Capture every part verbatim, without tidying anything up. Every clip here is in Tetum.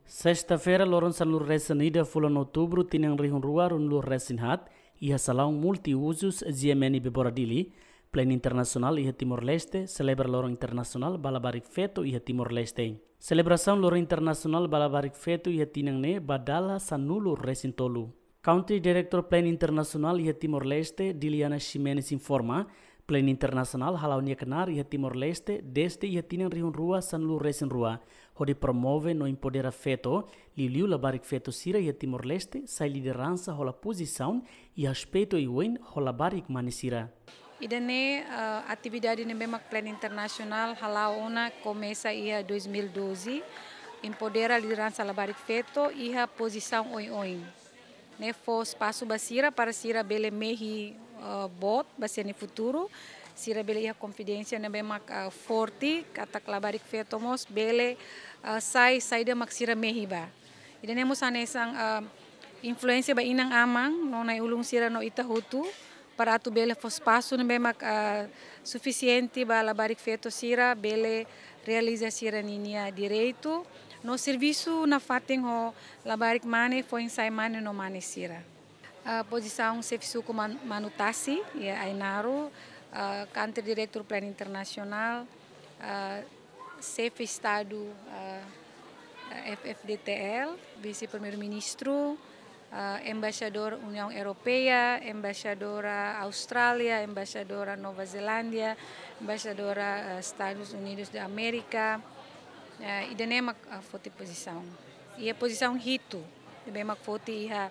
Sesta-feira, loron sanulu-resin-ida fulan Outubru, tinan rihun rua ruanulu-resin-haat, iha salaun multiuzus G M N Bebora Dili, Plein Internasionál iha Timor-Leste selebra Loron Internasionál ba Labarik Feto iha Timor-Leste. Selebrasaun Loron Internasionál ba Labarik Feto iha tinan ne'e ba dala sanulu-resin-tolu. Country Director Plein Internasionál iha Timor-Leste, Diliana Ximenes, informa, Plein Internasionál hala'o nia knaar iha Timor-Leste dezde iha tinan rihun rua sanulu-resin-rua, hodi promove no empodera feto, liuliu labarik feto sira iha Timor-Leste, sai lideransa hola pozisaun iha aspetu oioin ho labarik mane sira. Ida-ne'e, eh, atividade ne'ebé mak Plein Internasionál hala'o ona komesa iha dois mil e doze, empodera lideransa labarik feto iha pozisaun oioin. Ne'e fó espasu ba sira para sira bele mehi, eh, boot ba sira-nia futuru, sira bele iha konfidénsia ne'ebé mak, eh, forte, katak labarik feto mós bele, eh, sai saida mak sira mehi ba. Ida-ne'e mós hanesan, eh, influénsia ba inan-aman, no na'i-ulun sira no ita hotu, para atu bele fó espasu ne'ebé mak, ah, sufisiente ba labarik feto sira bele realiza sira-ninia direitu no servisu nafatin ho labarik mane, foin-sa'e mane no mane sira. Ah, pozisaun xefe suku Man-, Manu Tasi, iha Ainaro, ah, Country Director Plein Internasionál, ah, Xefe Estadu, ah, F F D T L, Vise-Primeiru-Ministru, ah, Embaixadór Uniaun Europeia, Embaixadora Austrália, Embaixadora Nova Zelándia, Embaixadora, ah, Estadus Unidus da Amérika, ah, ida-ne'e mak, ah, foti pozisaun. Iha pozisaun hitu, ne'ebé mak foti iha,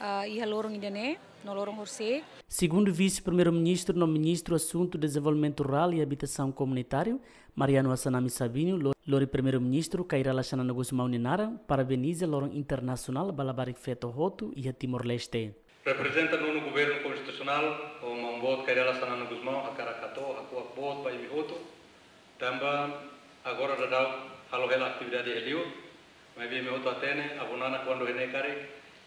ah, iha loron ida-ne'e, no loron horisehik. Segundu Vise-Primeiru-Ministru no Ministru Asuntu Dezenvolvimentu Rurál i Abitasaun Komunitáriu, Mariano Assanami Sabino, lo-, lori Primeiru-Ministru Kay Rala Xanana Gusmão nia naran, parabeniza Loron Internasionál ba Labarik Feto hotu iha Timor-Leste. Reprezenta Nonu Governu Konstitusionál, ho Maun Boot Kay Rala Xanana Gusmão, hakarak hato'o hakuak boot ba imi hotu, tanba agora daudaun halo hela atividade iha liur, maibé imi hotu hatene, Avó Nana kuandu iha ne'e karik,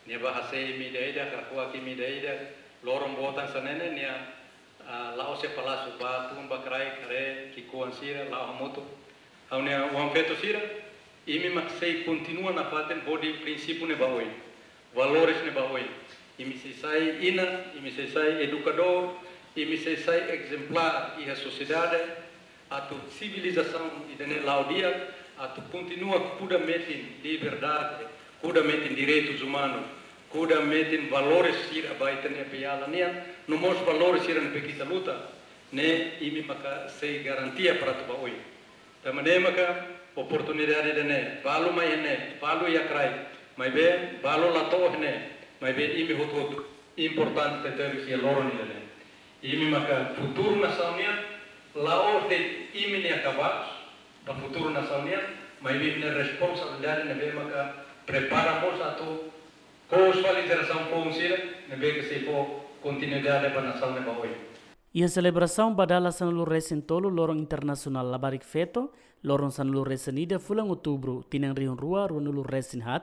nia bá hase'e imi ida-idak, hakuak imi ida-idak, loron boot hanesan ne'e, nia, ah, la'ós iha palásiu, bá tun ba kraik, haree ki'ikoan sira, la'o hamutuk. Ha'u-nia oan feto sira, imi mak sei kontinua nafatin hodi prinsípiu ne'e ba oin, valores ne'e ba oin. Imi sei sai inan, imi sei sai edukadór, imi sei sai ezemplár iha sosiedade, atu sivilizasaun ida-ne'e la'o di'ak, atu kontinua kuda metin liberdade, kuda metin direitus umanus, kuda metin valores sira ba ita-nia peala nian, no mós valores sira ne'ebé ke ita luta, ne'e imi maka sei garantia para atu ba oin. Tanba ne'e maka oportunidade ida-ne'e, balu mai iha ne'e, balu iha kraik, maibé balu la to'o iha ne'e, maibé imi hotu-hotu importante tebes iha loron ida-ne'e. Imi maka futuru nasaun nian, la'ós de'it imi-nia kabaas ba futuru nasaun nian, maibé imi-nia responsabilidade ne'ebé maka prepara mós atu kous fali jerasaun foun sira, ne'ebé ke sei fó kontinuidade ba nasaun ne'e ba oin. Iha selebrasaun ba dala sanulu-resin-tolu Loron Internasionál Labarik Feto, loron sanulu-resin-ida fulan Outubru, tinan rihun rua ruanulu-resin-haat,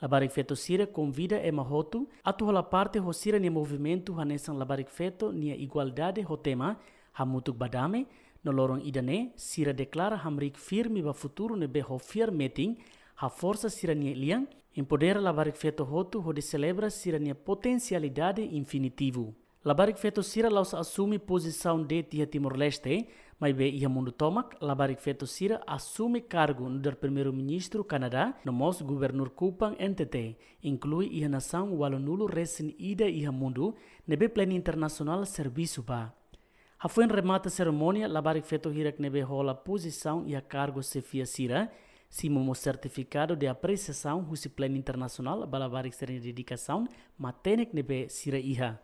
labarik feto sira konvida ema hotu atu hola parte ho sira-nia movimentu hanesan labarik feto nia igualdade ho tema Hamutuk ba Dame, no loron ida-ne'e, sira deklara hamriik firme ba futuru ne'ebé ho fiar metin, haforsa sira-nia lian, empodera labarik feto hotu hodi selebra sira-nia potensialidade infinitivu. Labarik feto sira la'ós asume pozisaun de'it iha Timor-Leste, maibé iha mundu tomak, labarik feto sira asume kargu nu'udar Primeiru-Ministru Kanadá, no mós Guvernur Kupang N T T, inklui iha nasaun ualunulu-resin-ida iha mundu, ne'ebé Plein Internasionál servisu ba. Hafoin remata serimónia, labarik feto hirak ne'ebé hola pozisaun iha kargu xefia sira, simu mós sertifikadu de apresiasaun husi Plein Internasionál ba labarik sira-nia dedikasaun matenek ne'ebé sira iha.